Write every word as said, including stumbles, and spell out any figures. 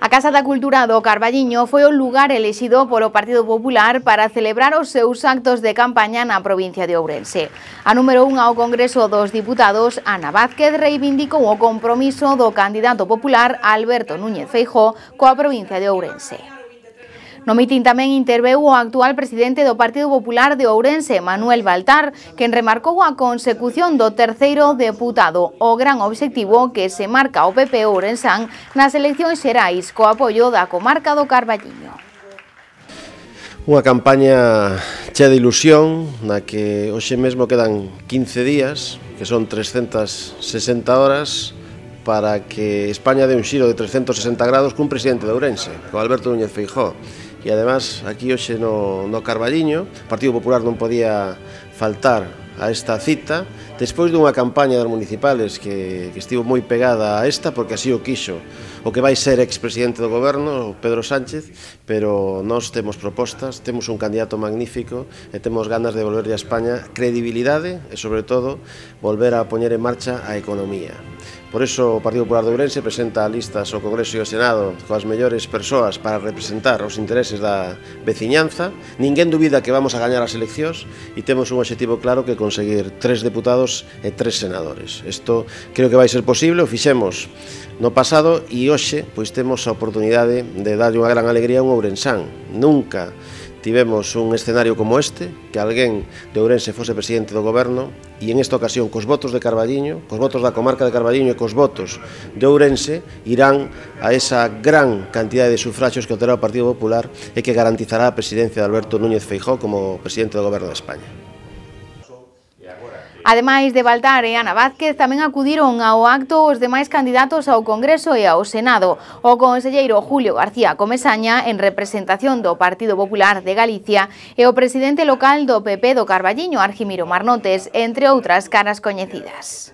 A Casa da Cultura do Carballiño foi o lugar elixido polo Partido Popular para celebrar os seus actos de campaña na provincia de Ourense. A número un ao Congreso dos Diputados, Ana Vázquez, reivindicou o compromiso do candidato popular Alberto Núñez Feijóo coa provincia de Ourense. No mitin tamén interveu o actual presidente do Partido Popular de Ourense, Manuel Baltar, quen remarcou a consecución do terceiro deputado, o gran obxectivo que se marca o P P ourensán nas eleccións xerais co apoio da comarca do Carballiño. Unha campaña chea de ilusión, na que hoxe mesmo quedan quince días, que son trescentas sesenta horas, para que España dé un xiro de trescentos sesenta grados cun presidente de Ourense, con Alberto Núñez Feijóo. E además, aquí hoxe no, no Carballiño, o Partido Popular non podía faltar a esta cita, despois dunha campaña das municipales que, que estivo moi pegada a esta, porque así o quixo o que vai ser expresidente do goberno, Pedro Sánchez, pero nós temos propostas, temos un candidato magnífico e temos ganas de volverlle a España credibilidade e, sobre todo, volver a poñer en marcha a economía. Por iso o Partido Popular de Ourense presenta listas ao Congreso e ao Senado coas mellores persoas para representar os intereses da veciñanza. Ninguén dubida que vamos a gañar as eleccións e temos un obxectivo claro que conseguir tres deputados e tres senadores. Isto creo que vai ser posible, o fixemos no pasado e hoxe pois temos a oportunidade de darlle unha gran alegría a un ourensán. Nunca tivemos un escenario como este, que alguén de Ourense fose presidente do goberno, e en esta ocasión, cos votos de Carballiño, cos votos da comarca de Carballiño e cos votos de Ourense, irán a esa gran cantidade de sufragios que obterá o Partido Popular e que garantizará a presidencia de Alberto Núñez Feijóo como presidente do goberno de España. Ademais de Baltar e Ana Vázquez, tamén acudiron ao acto os demais candidatos ao Congreso e ao Senado. O conselleiro Julio García Comesaña, en representación do Partido Popular de Galicia, e o presidente local do P P do Carballiño, Argimiro Marnotes, entre outras caras coñecidas.